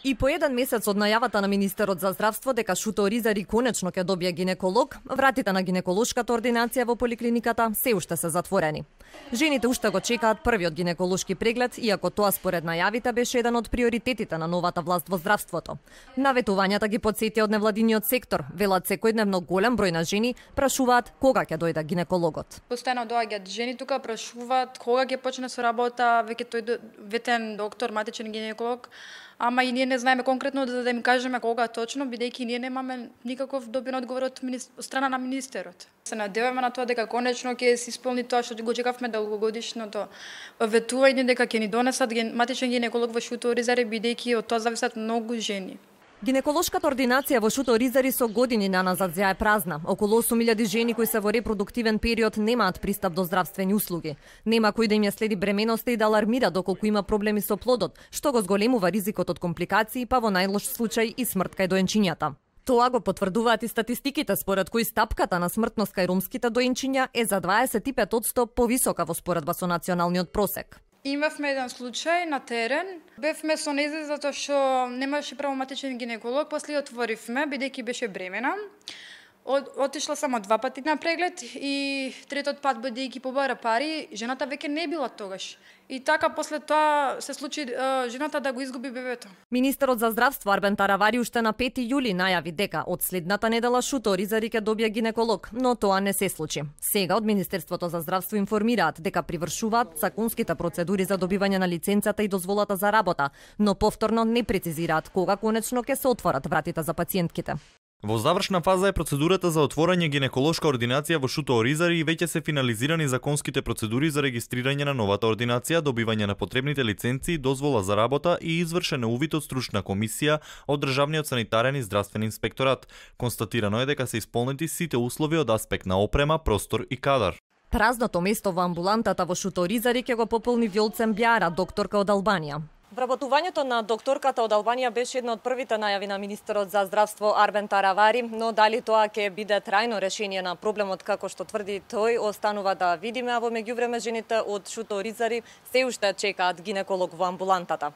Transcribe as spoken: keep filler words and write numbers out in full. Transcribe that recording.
И по еден месец од најавата на министерот за здравство дека Шуто Оризари конечно ќе добие гинеколог, вратите на гинеколошката ординација во поликлиниката се уште се затворени. Жените уште го чекаат првиот гинеколошки преглед, иако тоа според најавите беше еден од приоритетите на новата власт во здравството. Наветувањата ги потсети од невладиниот сектор, велат секојдневно голем број на жени прашуваат кога ќе дојде гинекологот. Постојано доаѓаат жени тука, прашуваат кога ќе почне со работа, веќе тој ветен доктор, матичен гинеколог. Ама и ние не знаеме конкретно да, да им кажеме кога точно, бидејќи ние немаме никаков добен одговор од, министр... од страна на министерот. Се надеваме на тоа дека конечно ќе се исполни тоа што го чекавме долгогодишното ветување дека ќе ни донесат ген... матичен гинеколог во Шуто Оризари, бидејќи од тоа зависат многу жени. Гинеколошката ординација во Шуто Оризари со години наназад ја е празна. Околу осум илјади жени кои се во репродуктивен период немаат пристап до здравствени услуги. Нема кој да им ја следи бременоста и да алармира доколку има проблеми со плодот, што го зголемува ризикот од компликации, па во најлош случај и смрт кај доенчињата. Тоа го потврдуваат и статистиките, според кои стапката на смртност кај ромските доенчиња е за дваесет и пет одсто повисока во споредба со националниот просек. Имавме еден случај на терен. Бевме со нејзе затоа што немаше правоматичен гинеколог, после отворивме бидејќи беше бремена. Од, отишла само два пати на преглед и третот пат бидејќи побара пари, жената веќе не била тогаш. И така после тоа се случи е, жената да го изгуби бебето. Министерот за здравство Арбен Таравари уште на пети јули најави дека од следната недела Шуто Оризари ќе добие гинеколог, но тоа не се случи. Сега од Министерството за здравство информираат дека привршуваат законските процедури за добивање на лиценцата и дозволата за работа, но повторно не прецизираат кога конечно ќе се отворат вратите за пациентките. Во завршна фаза е процедурата за отворање гинеколошка ординација во Шуто Оризари и веќе се финализирани законските процедури за регистрирање на новата ординација, добивање на потребните лиценци, дозвола за работа и извршен увид од стручна комисија од Државниот санитарен и здравствен инспекторат. Констатирано е дека се исполнети сите услови од аспект на опрема, простор и кадар. Празното место во амбулантата во Шуто Оризари ќе го пополни Вјолцем Бјара, докторка од Албанија. Вработувањето на докторката од Албанија беше една од првите најави на министерот за здравство Арбен Таравари, но дали тоа ќе биде трајно решение на проблемот како што тврди тој, останува да видиме, а во меѓувреме жените од Шуто Оризари се уште чекаат гинеколог во амбулантата.